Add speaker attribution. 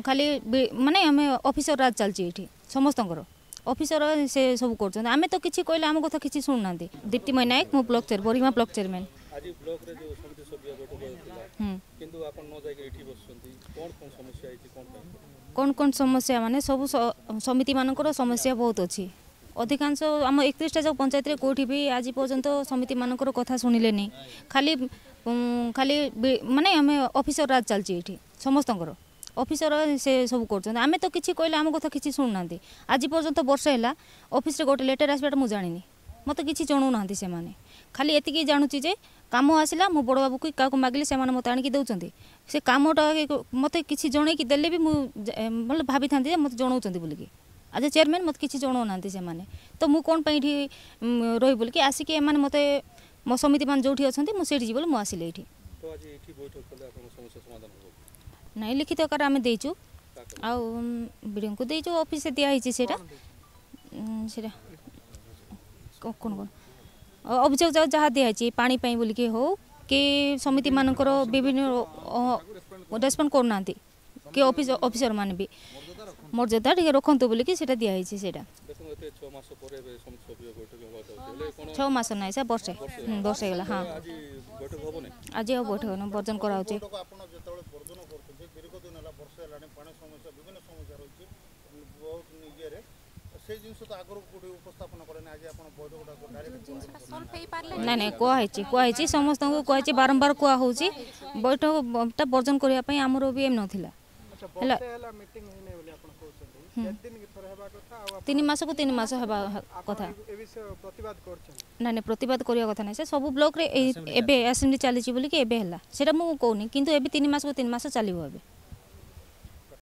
Speaker 1: ଖାଲି ମାନେ ଆମେ ଅଫିସର ରାଜ ଚାଲିଛି ଏଇଠି, ସମସ୍ତଙ୍କର ଅଫିସର ସେ ସବୁ କରୁଛନ୍ତି। ଆମେ ତ କିଛି କହିଲେ ଆମ କଥା କିଛି ଶୁଣୁନାହାନ୍ତି। ଦୀପ୍ତିମୟ ନାୟକ, ମୁଁ ବ୍ଲକ ଚେୟାର, ବରିମା ବ୍ଲକ ଚେୟାରମ୍ୟାନ୍।
Speaker 2: ଆଜି ବ୍ଲକରେ ଯେଉଁ ସମିତି ସଭ୍ୟ ବୈଠକ ହେଉଥିଲା, କିନ୍ତୁ ଆପଣ ନ ଯାଇକି ଏଠି ବସୁଛନ୍ତି, କ'ଣ କ'ଣ ସମସ୍ୟା ହେଇଛି, କ'ଣ ପାଇଁ?
Speaker 1: କ'ଣ କ'ଣ ସମସ୍ୟା ମାନେ ସବୁ ସମିତିମାନଙ୍କର ସମସ୍ୟା ବହୁତ ଅଛି। ଅଧିକାଂଶ ଆମ 31ଟା ଯାକ ପଞ୍ଚାୟତରେ କେଉଁଠି ବି ଆଜି ପର୍ଯ୍ୟନ୍ତ ସମିତିମାନଙ୍କର କଥା ଶୁଣିଲେନି। ଖାଲି ଖାଲି ମାନେ ଆମେ ଅଫିସର ରାଜ ଚାଲିଛି ଏଇଠି, ସମସ୍ତଙ୍କର ଅଫିସର ସେ ସବୁ କରୁଛନ୍ତି। ଆମେ ତ କିଛି କହିଲେ ଆମ କଥା କିଛି ଶୁଣୁନାହାନ୍ତି। ଆଜି ପର୍ଯ୍ୟନ୍ତ ବର୍ଷେ ହେଲା ଅଫିସରେ ଗୋଟେ ଲେଟର୍ ଆସିବାଟା ମୁଁ ଜାଣିନି, ମୋତେ କିଛି ଜଣାଉନାହାନ୍ତି ସେମାନେ। ଖାଲି ଏତିକି ଜାଣୁଛି ଯେ କାମ ଆସିଲା, ମୁଁ ବଡ଼ ବାବୁକୁ କାହାକୁ ମାଗିଲି, ସେମାନେ ମୋତେ ଆଣିକି ଦେଉଛନ୍ତି। ସେ କାମଟା ମୋତେ କିଛି ଜଣେଇକି ଦେଲେ ବି ମୁଁ ଭଲ ଭାବିଥାନ୍ତି ଯେ ମୋତେ ଜଣାଉଛନ୍ତି ବୋଲିକି। ଆଜ ଏ ଚେୟାରମ୍ୟାନ୍ ମୋତେ କିଛି ଜଣାଉନାହାନ୍ତି ସେମାନେ, ତ ମୁଁ କ'ଣ ପାଇଁ ଏଠି ରହିବି ବୋଲିକି ଆସିକି ଏମାନେ ମୋତେ ମୋ ସମିତିମାନେ ଯେଉଁଠି ଅଛନ୍ତି ମୁଁ ସେଇଠି ଯିବି ବୋଲି ମୁଁ ଆସିଲି ଏଇଠି।
Speaker 2: ତ ଆଜି ଏଇଠି ବୈଠକ କଲେ ଆପଣଙ୍କ ସମସ୍ୟା ସମାଧାନ ହେବ?
Speaker 1: ନାଇଁ, ଲିଖିତ ଆକାରରେ ଆମେ ଦେଇଛୁ ଆଉ ବିଡ଼ିଓଙ୍କୁ ଦେଇଛୁ, ଅଫିସରେ ଦିଆହେଇଛି। ସେଇଟା ସେଇଟା କ'ଣ କ'ଣ ଅଭିଯୋଗ ଯାହା ଦିଆହେଇଛି, ପାଣି ପାଇଁ ବୋଲିକି ହଉ କି ସମିତିମାନଙ୍କର ବିଭିନ୍ନ ରେସ୍ପଣ୍ଡ କରୁନାହାନ୍ତି କି ଅଫିସ ଅଫିସର ମାନେ ବି ମର୍ଯ୍ୟାଦା ଟିକେ ରଖନ୍ତୁ ବୋଲିକି ସେଇଟା ଦିଆହେଇଛି। ସେଇଟା
Speaker 2: ଦେଖନ୍ତୁ, ଏତେ 6 ମାସ ପରେ ଏବେ ସମିତି ସଭ୍ୟ ବୈଠକ ହେବାକୁ ଯାଉଛି, ହେଲେ କ'ଣ?
Speaker 1: 6 ମାସ ନାହିଁ ସାର୍, ବର୍ଷେ, ବର୍ଷେ ହେଇଗଲା। ହଁ,
Speaker 2: ଆଜି ବୈଠକ ହେବନି?
Speaker 1: ଆଜି ଆଉ ବୈଠକ ନୁହଁ, ବର୍ଜନ କରାହେଉଛି।
Speaker 3: ବୈଠକ ଆପଣ ଯେତେବେଳେ ବର୍ଜନ କରୁଛନ୍ତି, ଦୀର୍ଘ ଦିନ ହେଲା, ବର୍ଷେ ହେଲାଣି, ପାଣି ସମସ୍ୟା ବିଭିନ୍ନ ସମସ୍ୟା ରହିଛି ବହୁତ ଇଏରେ, ସେଇ ଜିନିଷ ତ ଆଗରୁ କୋଉଠି ଉପସ୍ଥାପନ କଲେନି, ଆଜି ଆପଣ ବୈଠକଟାକୁ ଡାଇରେକ୍ଟ?
Speaker 1: ନାଇଁ ନାଇଁ, କୁହାହେଇଛି, କୁହାହେଇଛି, ସମସ୍ତଙ୍କୁ କୁହାହେଇଛି, ବାରମ୍ବାର କୁହା ହେଉଛି। ବୈଠକଟା ବର୍ଜନ କରିବା ପାଇଁ ଆମର ବି ଏମ୍ ନଥିଲା। ହେଲା
Speaker 4: ମିଟିଂ ହେଇନି ବୋଲି ଆପଣ କହୁଛନ୍ତି, କେତେ ଦିନ ଥରେ ହେବା କଥା? ଆଉ
Speaker 1: 3 ମାସକୁ 3 ମାସ ହେବା କଥା।
Speaker 4: ଏ ବିଷୟ ପ୍ରତିବାଦ କରୁଛନ୍ତି?
Speaker 1: ନାଇଁ ନାଇଁ, ପ୍ରତିବାଦ କରିବା କଥା ନାହିଁ। ସେ ସବୁ ବ୍ଲକରେ ଏଇ ଏବେ ଆସେମ୍ବଲି ଚାଲିଛି ବୋଲିକି ଏବେ ହେଲା, ସେଇଟା ମୁଁ କହୁନି, କିନ୍ତୁ ଏବେ 3 ମାସକୁ 3 ମାସ ଚାଲିବ ଏବେ।